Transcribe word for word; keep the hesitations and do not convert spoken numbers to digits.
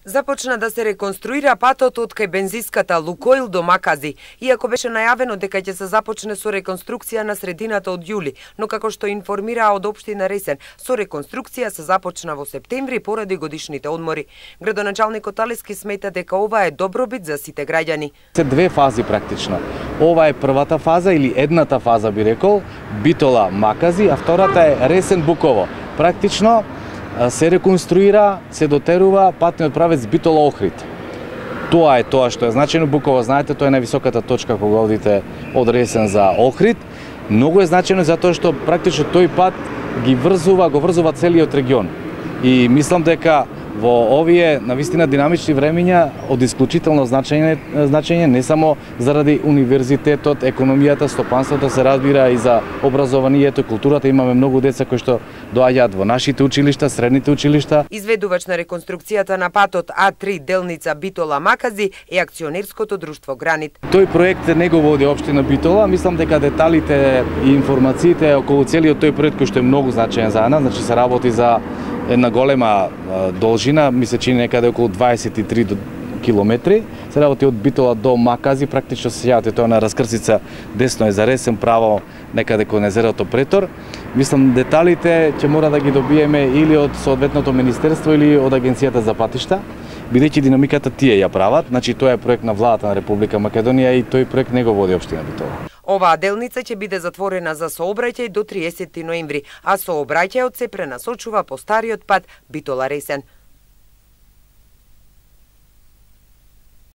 Започна да се реконструира патот од кај бензиската Лукоил до Макази, иако беше најавено дека ќе се започне со реконструкција на средината од јули, но како што информираа од општина Ресен, со реконструкција се започна во септември поради годишните одмори. Градоначалникот Алески смета дека ова е добробит за сите граѓани. Се две фази практично. Ова е првата фаза или едната фаза би рекол, Битола Макази, а втората е Ресен Буково. Практично се реконструира, се дотерува патниот правец Битола Охрид. Тоа е тоа што е значено. Буково, знаете, тоа е највисоката точка кога одите од Ресен за Охрид. Многу е значено затоа што практично тој пат ги врзува, го врзува целиот регион. И мислам дека во овие навистина динамични времиња од исклучително значење, значење не само заради универзитетот, економијата, стопанството, се разбира и за образованието, културата. Имаме многу деца кои што доаѓаат во нашите училишта, средните училишта. Изведувач на реконструкцијата на патот А три делница Битола Макази е акционерското друштво Гранит. Тој проект не го води општина Битола. Мислам дека деталите и информациите околу целиот тој проект кој што е многу значаен за нас, значи се работи за една голема должина, ми се чини некаде околу дваесет и три километри. Се работи од Битола до Макази, практично се сејавате тоа на раскрсица, десно е за Ресен, право некаде кон езерото Претор. Мислам деталите ќе мора да ги добиеме или од соодветното министерство или од Агенцијата за патишта, бидејќи динамиката тие ја прават. Значи тоа е проект на владата на Република Македонија и тој проект не го води општина Битола. Оваа делница ќе биде затворена за сообраќај до триесети ноември, а сообраќајот се пренасочува по стариот пат Битола Ресен.